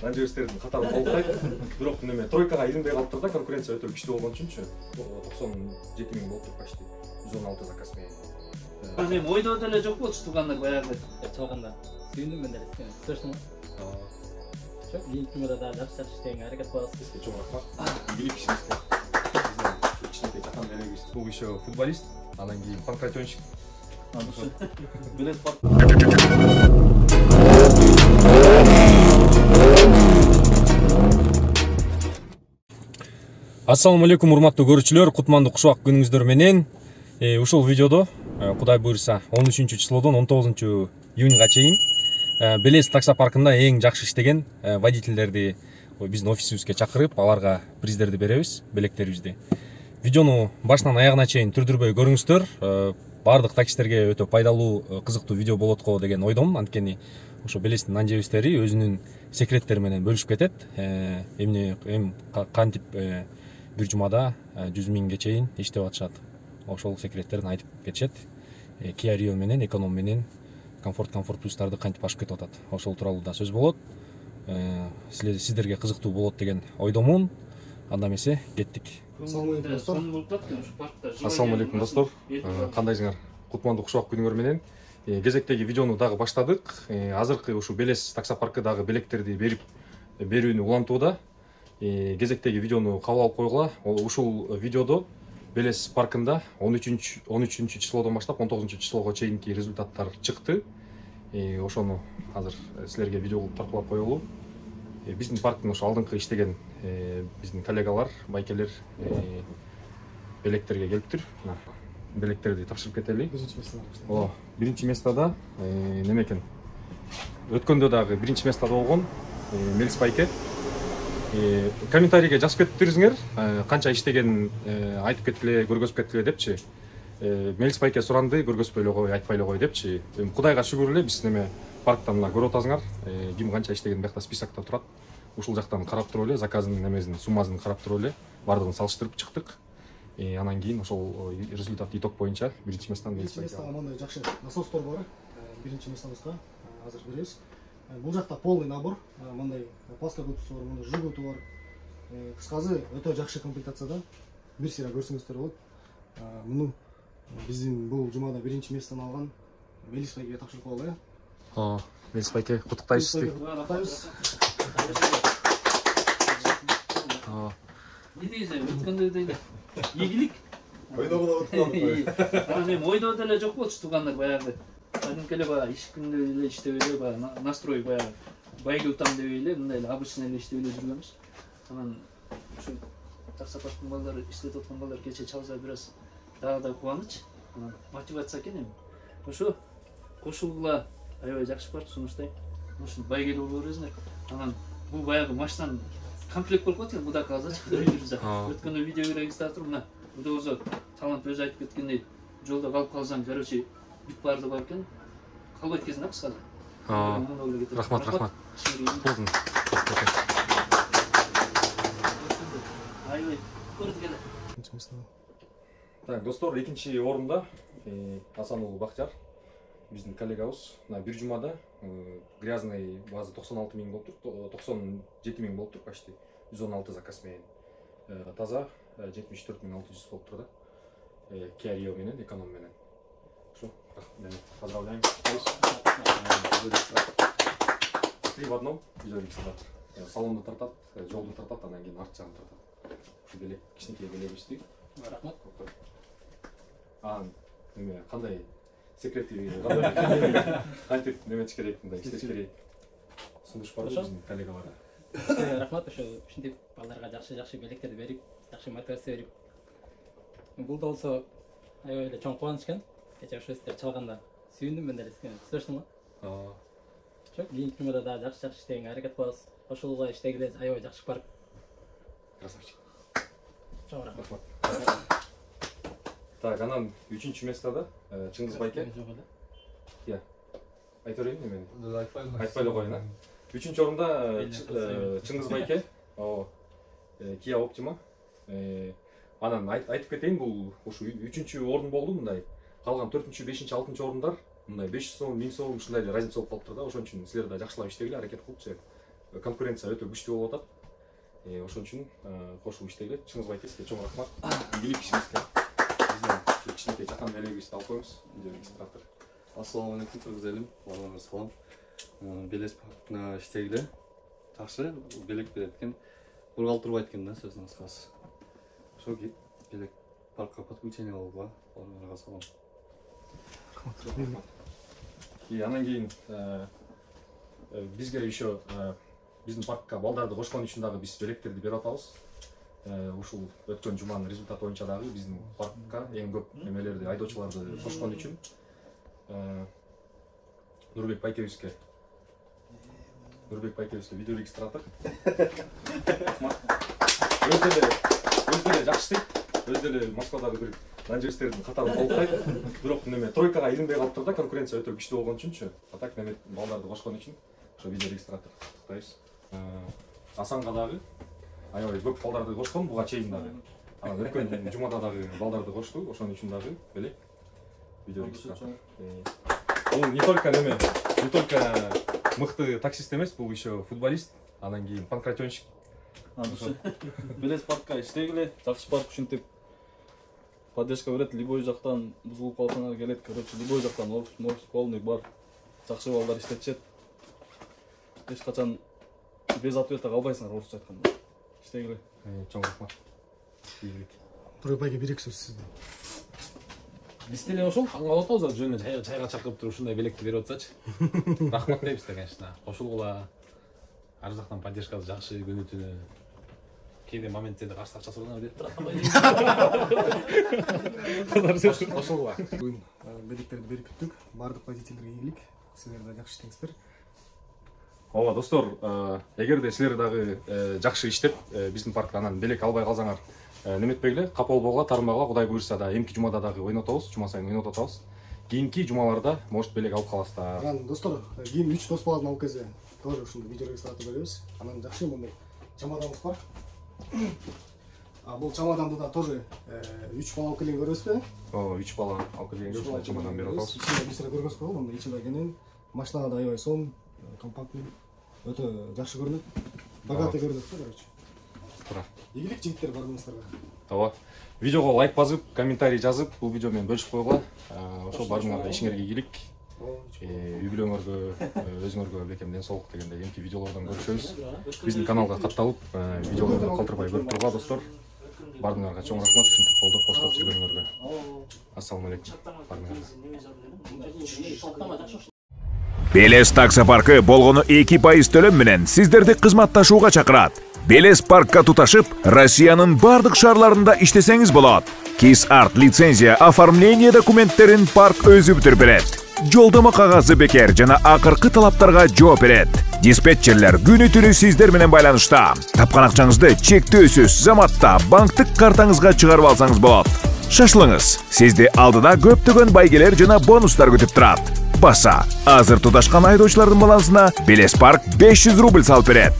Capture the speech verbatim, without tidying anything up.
Нанжебестердин катары толуктайт. Бирок неме тройкага иринбей калыптыр да, конкуренция өтө күчтүү болгон үчүнчү. токсон жети миң болуп почти жүз он алты заказ менен. Мен ойдо деле жок болчу туугандар баягы чалганда. Сүйүндүм мен деле. Көрсөң. Çok iyi kimada da ders çalıştığın hareket parası. Sizge çok rahmat. Bilik işinizde. İçindeki çatan nereye Bu işe futbolist. Anan gibi pankrat oyuncu. Bilet var. Assalamu alaikum урматтуу көрүүчүлөр, кутмандуу кушубак күнүңүздөр менен. Ушул видеодо Кудай буйрса он үчүнчү числодон он тогузунчу июнга чейин Белес таксопаркында эң жакшы иштеген водительдерди биздин офисибизге чакырып, аларга приздерди беребиз, белектерибизди. Видеону башынан аягына чейин түрдүрбөй көрүңүздөр. Бардык таксистерге өтө пайдалуу, кызыктуу видео болот го деген ойдомун. Анткени ошо Белестин нанжебестери өзүнүн секреттери менен бөлүшүп кетет. Эмне эм кантип бир жумада жүз миңге чейин иштеп атышат. Ошол секреттерин айтып кетишет. Kia Rio менен, эконом менен комфорт комфорт плюстарды кантип ашып кетип атат. Ошол тууралуу да сөз болот. Сиздерге кызыктуу болот деген ойдомун. Анда эмесе кеттик. Ассаламу алейкум достор. Кандайсыңар? Кутмандуу кушубак күнүңөр менен кезектеги видеону дагы баштадык. Азыркы ушу Белес таксопаркы дагы белектерди берип берүүнү улантууда. Кезектеги видеону кабыл алып койгула. Ушул видеодо Белес паркында он үчүнчү числодон баштап он тогузунчу числого чейинки результаттар чыкты. Ошону азыр силерге видео кылып таркылап коелу. Биздин парктын ошо алдыңкы иштеген биздин коллегалар, байкелер белектерге келиптир. Белектерди тапшырып кетели. Биринчи местада. О, биринчи местада неме экен? Өткөндө дагы биринчи местада болгон Мелис байке. Комментарийге жазып кетиптирсиңер, канча иштегенин айтып кеткиле, көргөзүп кеткиле депчи. Мелис байке суранды, көргөзбөй эле кой, айтпай эле кой депчи. Кудайга шүгүр эле биз неме парктан мына көрүп атасыңар, ким канча иштегенин биякта списокто турат. Ушул жактан карап туруп эле, заказынын немесин, суммасын карап туруп эле, бардыгын салыштырып чыктык. Анан кийин ошол результат итог боюнча биринчи местадан Мелис байке. Биринчи местада мындай жакшы насостор бар. Биринчи местабызга азыр беребиз. Бул жакта полный набор, мындай паска кутусу бар, мындай жигуту бар. Кыскасы өтө жакшы комплектацияда. Бир сыйра көрсөңүздөр болот. Муну биздин бул жумада биринчи местени алган Мелис байкеге тапшырып коелу. О, Мелис байке, куттуктайбыз сизди. Куттуктайбыз. О. Не дейсиң, өткөндө деле ийгилик. Ойдогуна өткөн. Ана мен ойдо деле жок болчу туугандар баягы. Кадимки эле баягы иш күндө эле иштеп эле баягы настрой баягы байге утам деп эле мындай эле обычный эле иштеп эле жүргөнбүз. Анан ушу таксопарктын балдары иштеп аткан балдар кече чалса бир аз дагы да кубаныч. Анан мотивация экен эми. Ошо кошулгула аябай жакшы бар, сунуштайм. Ушул байге боло бересиңер. Анан бул баягы машинадан комплект болуп калат экен, муда казачы жүрүп. Өткөндө видео регистратор мына Удозо талант өзү айтып кеткендей жолдо калып калсаң, короче, бүт барды бар экен. Калбайт кезин да кыскасы. Рахмат, рахмат. Болдун. Аябай көрдүк эле. Так, достор, экинчи орунда Асан уулу Бактияр, биздин коллегабыз. Мына бир жумада грязный база токсон алты миң болуптур, токсон жети миң болуптур, почти жүз он алты заказ менен. Таза жетимиш төрт миң алты жүз болуптур да. Kia Rio менен, эконом менен. Ошо, поздравляем. Три в одном, салонду тартат, жолду тартат, анан кийин арт жагын тартат. Ушу белек, кичинекей белегибизди. Рахмат. А, неме, кандай секрети, кандай кантип неметиш керек, мындай иштеш керек. Сунуш бар биздин коллегаларга. Рахмат, ошо ушинтип балдарга жакшы-жакшы белектерди берип, жакшы мотивация берип. Бул да болсо аябай эле чоң кубаныч экен. Кече ошо сиздер чалганда сүйүндүм мен деле. Түзөштүңбү? Аа. Чок, кийинки жумада да жакшы-жакшы иштегенге аракет кылабыз. Ошолго иштегиле аябай жакшы парк. Красавчик. Чоң рахмат. Так, анан үчүнчү местада Чыңгыз байке. Иә. Айта берейин эмени? Айтпай эле коеюн, а. Үчүнчү орунда Чыңгыз байке. О, Kia Optima. Анан айтып кетейин, бул ушу үчүнчү орун болду мындай. Калган төртүнчү, бешинчи, алтынчы орундар мындай беш жүз сом, миң сом ушундай эле разница болуп калыптыр да. Ошон үчүн силер да жакшылап иштегиле, аракет кылыпчы. конкуренция өтө күчтүү болуп атат. Ошон үчүн кошуп иштегиле. Чыңгыз Байтеске чоң рахмат. Игилик ишибизге бизден кичинекей жакан белегибизди алып коебуз. Видеорегистратор. Ассаламу алейкум, кыргыз элим. Баарыңарга салам. Белес паркына иштегиле. Жакшы белек берет экен. Бургалтырбайт экен да, сөзүнүн кыскасы. Ошо белек паркка подключение алууга баарыңарга салам. И анан кийин бизге еще биздин паркка балдарды кошкон үчүн дагы биз белектерди берип атабыз. Ушул өткөн жуманын результаты боюнча дагы биздин паркка эң көп эмелерди, айдоочуларды кошкон үчүн Нурбек Байкебизге Нурбек Байкебизге видеорегистратор. Өз деле өз деле жакшы иштейт. Өз деле Москвадагы бир менеджердин катарын толуктайт. Бирок неме тройкага иринбей калыптыр да, конкуренция өтө күчтүү болгон үчүнчү. А так неме балдарды кошкон үчүн ошо видеорегистратор тактайбыз. Асанга дагы аябай көп балдарды кошкон, буга чейин дагы. Анан өткөн жумада дагы балдарды кошту, ошон үчүн дагы белек видеорегистратор. Бул не только неме, не только мыкты таксист эмес, бул еще футболист, анан кийин панкратионщик. Белес паркка иштегиле, жакшы парк ушинтип поддержка берет, любой жактан бузулуп калсаңар келет, короче, любой жактан офис полный бар. Жакшы балдар иштетишет. Эч качан без ответа калбайсыңар, орусча айтканда. Иштегиле. Чоң рахмат. Ийгилик. Нурбек байке бир эки сөз сизде. Биз деле ошол таң калып атабыз, жөнүнө чайга чакырып туруп ушундай белекти берип атсачы. Рахмат дейбиз да, конечно. Кошулгула ар жактан поддержкасы жакшы, күнү түнү кээде моменттерде каршы акча сураган деп турат. Кошулгула. Бүгүн белектерди берип бүттүк. Бардык водительдерге ийгилик. Силер да жакшы иштеңиздер. Ооба, достор, эгерде силер дагы жакшы иштеп биздин паркта анан белек албай калсаңар, неметпегиле, капа болбогула, таарынбагыла, Кудай буйрса да эмки жумада дагы ойнотобуз, жума сайын ойнотуп атабыз. Кийинки жумаларда может белек алып каласыздар. Анан достор, кийин үч дос баладан алып келсе, тоже ушундай видеорегистратор беребиз. Анан жакшы мындай чамаданыбыз бар. А бул чамаданды да тоже үч бала алып келген көрөсүзбү? Ооба, үч бала алып келген ушундай чамадан берип атабыз. Ичинде бир көргөзүп койгон, мындай ичинде кенен, машинада аябай сонун, компактный, өтө жакшы көрүнөт. Богатый көрүнөт да, короче. Туура. Игилик жигиттер баарыңыздарга. Ооба. Видеого лайк басып, комментарий жазып, бул видео менен бөлүшүп койгула. Ошол баарыңарга ишиңерге ийгилик. Үй бүлөңөргө, өзүңөргө бекем ден соолук дегенде эмки видеолордон көрүшөбүз. Биздин каналга катталып, видеолорду калтырбай көрүп тургула, достор. Баарыңарга чоң рахмат ушинтип колдоп коштоп жүргөнүңөргө. Ассаламу алейкум. Баарыңарга. Белес таксопаркы болгону эки пайыз төлөм менен сиздерди кызматташууга чакырат. Белес паркка туташып, Россиянын бардык шаарларында иштесеңиз болот. Кис арт лицензия оформление документтерин парк өзү бүтүрүп берет. Жолдомо кагазы бекер жана акыркы талаптарга жооп берет. Диспетчерлер күнү түнү сиздер менен байланышта. Тапкан акчаңызды чектөөсүз заматта банктык картаңызга чыгарып алсаңыз болот. Шашылыңыз, сизди алдыда көптөгөн байгелер жана бонустар күтүп турат. Баса, азыр туташкан айдоочулардын балансына Белес парк беш жүз рубль салып берет.